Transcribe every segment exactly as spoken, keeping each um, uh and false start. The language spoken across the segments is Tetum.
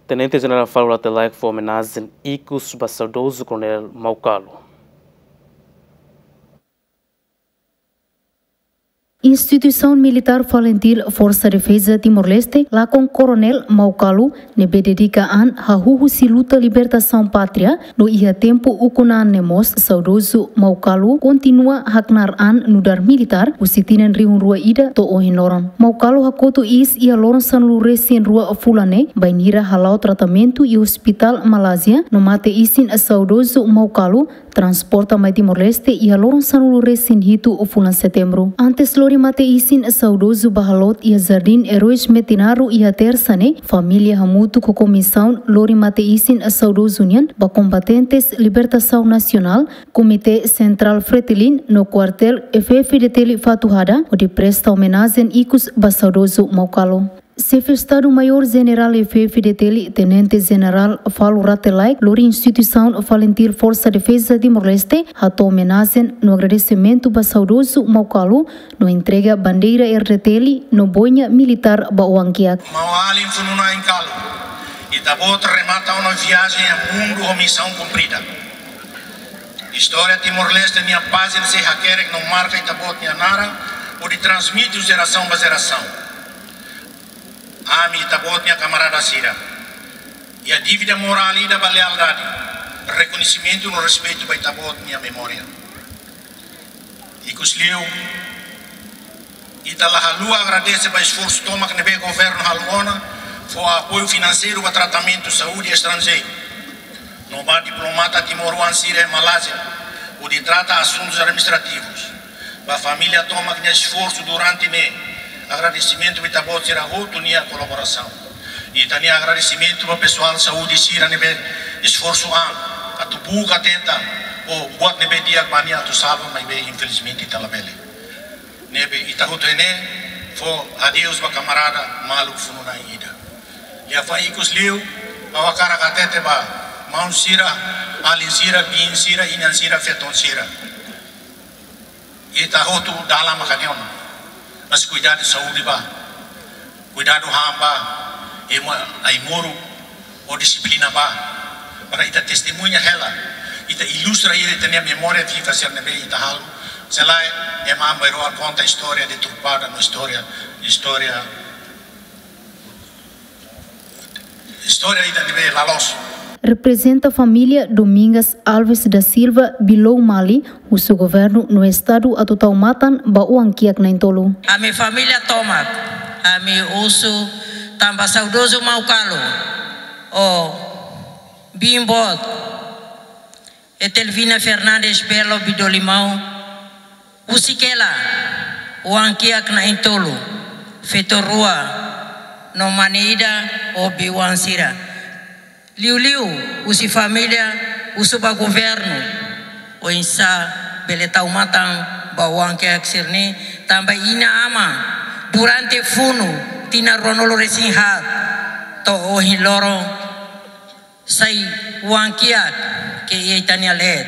Tenente Jenerál Falo Rate Laek fó omenajen ikus ba saudozu Koronél Maucalo. Instituisaun militár FALINTIL Forsa Defeza Timor-Leste lakon Koronél Maucalo, ne'ebé dedika an hahú husi luta libertasaun pátria, no iha tempu ukun an ne'e mós saudozu Maucalo kontinua haknaar an nu'udar militár husi tinan rihun rua ida to'o ohin loron. Maucalo hakotu iis iha loron sanulu-resin-rua fulan ne'e, bainhira hala'o tratamentu iha Hospitál Malázia, no mate isin saudozu Maucalo transporta mai Timor-Leste iha loron sanulu-resin-hitu fulan Setembru. Antes lori mate isin saudozu ba haloot iha Jardín Heróis Metinaro iha Tersa ne'e, família hamutuk ho komisaun lori mate isin saudozu nian ba kombatentes libertasaun nasionál, Komité Sentrál FRETILIN no Kuartél F-FDTL Fatuhada, hodi presta omenajen ikus ba saudozu Maucalo. Xefe Estadu-Maiór Jenerál F-FDTL, Tenente Jenerál Falo Rate Laek, lori instituisaun FALINTIL Forsa Defeza Timor-Leste, hato'o omenajen no agradesimentu ba saudozu Maucalo, no entrega bandeira RDTL no boina militár ba oan-kiak. Maun-alin funu-na'in Calo, ita-boot remata ona viajen iha mundu ho misaun kumprida. Istória Timor-Leste nia pájina sei hakerek no marka ita-boot nia naran, hodi transmite jerasaun ba jerasaun. Ami ita-boot nia kamarada sira, iha dívida morál ida ba lealdade, rekoñesimentu no respeitu ba ita-boot nia memória. Ikusliu, ita la haluha agradese ba esforsu tomak ne'ebé governu halo ona, fó apoiu finanseiru ba tratamentu saúde estranjeiru, no ba diplomata timoroan sira iha Malázia, hodi trata asuntus administrativus. Ba família tomak nia esforsu durante ne'e, agradesimentu ba ita-boot sira hotu nia kolaborasaun. Ita-nia agradesimentu ba pesoál saúde sira ne'ebé esforsu an atu buka tenta, ou buat ne'ebé di'ak ba nia atu salva, maibé infelizmente ita labele. Ne'ebé ita hotu ne'e fó adeus ba kamarada maluk funu-na'in ida. Liafuan ikusliu, ha'u hakarak hatete ba maun sira, alin sira, biin sira, inan sira, feton sira. Ita hotu dalan maka ne'e ona. Mas kuidadu saúde bá. Kuidadu han bá. Ema ai-moruk ho dixiplina bá. Para ita testemuña hela. Ita ilustra ita, ita-nia memória viva sira ne'ebé ita halo. Se lae, ema an bainrua konta istória deturpada no istória, istória, istória ida ne'ebé la loos. Reprezenta família Domingas Alves da Silva Bilou Mali, husu governu no Estadu atu tau matan ba oan-kiak na'in-tolu. Ami família tomak, ami husu tan ba saudozu Maucalo, ho biin boot, Etelvina Fernandes Belo Bidolimão, husik hela oan-kiak na'in-tolu, feto rua no mane ida ho biin-oan sira. Liuliu husi família husu ba governu, oinsá bele tau matan ba oan-kiak sira-ne'e, tanba inan-aman durante funu tinan ruanulu-resin-haat to'o ohin loron sai oan-kiak ke iha ita-nia leet.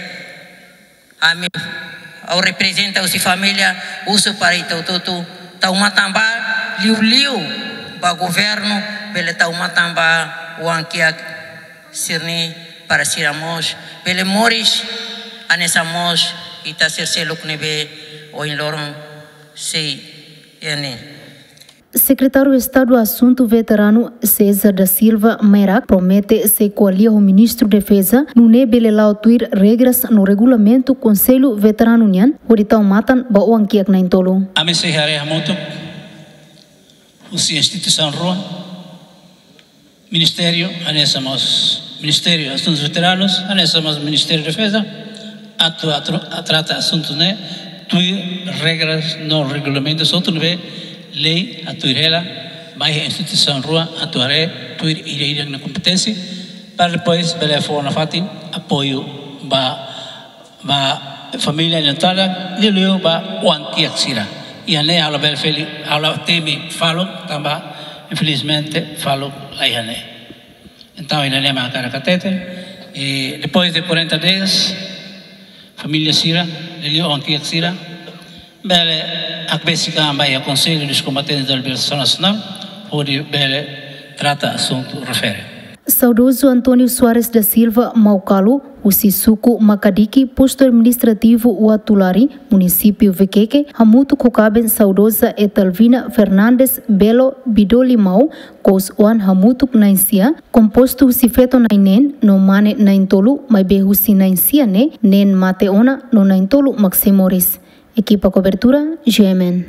Ami, ha'u reprezenta husi família, husu para ita hotu-hotu tau matan bá, liuliu ba governu, bele tau matan ba oan-kiak sira-ne'e para sira mós bele moris hanesan mós ita sira seluk ne'ebé ohin loron sei iha ne'e. Sekretáriu Estadu Asuntu Veteranu César da Silva Meirac promete sei ko'alia ho Ministru Defeza, nune'e bele la'o tuir regras no regulamentu Konsellu Veteranu nian, hodi tau matan ba oan-kiak na'in-tolu. Ami sei haree hamutuk husi instituisaun rua, Ministériu, hanesan mós Ministériu Asuntus Veteranus, hanesan mós Ministériu Defeza, atu, atu, atu trata asuntu ne'e tuir regras no regulamentus hotu ne'ebé lei hatuir hela, ba iha instituisaun rua atu haree tuir ida-idak nia kompeténsia, para depois bele fó nafatin apoiu ba ba família nia tala, liuliu ba oan-kiak sira. Iha ne'e ha'u labele fali, ha'u la temi faluk, tanba infelizmente faluk la iha ne'e. Entaun, iha ne'e mak hakarak hatete, e depois de quarenta dias, família sira, liuliu oan-kiak sira, bele hakbesik an ba iha Conselho dos Combatentes da Libertação Nacional, hodi bele trata asuntu refere. Saudozu António Soares da Silva Maucalo, husi suku Macadiqui, postu administrativu Uatulari, munisípiu Viqueque, hamutuk ho kaben saudoza Etelvina Fernandes Belo Bidoli Mau, kous-oan hamutuk na'in-sia, kompostu husi feto na'in-neen no mane na'in-tolu, maibé husi na'in-sia ne'e, neen mate ona no na'in-tolu mak sei moris. Ekipa kobertura, G M N.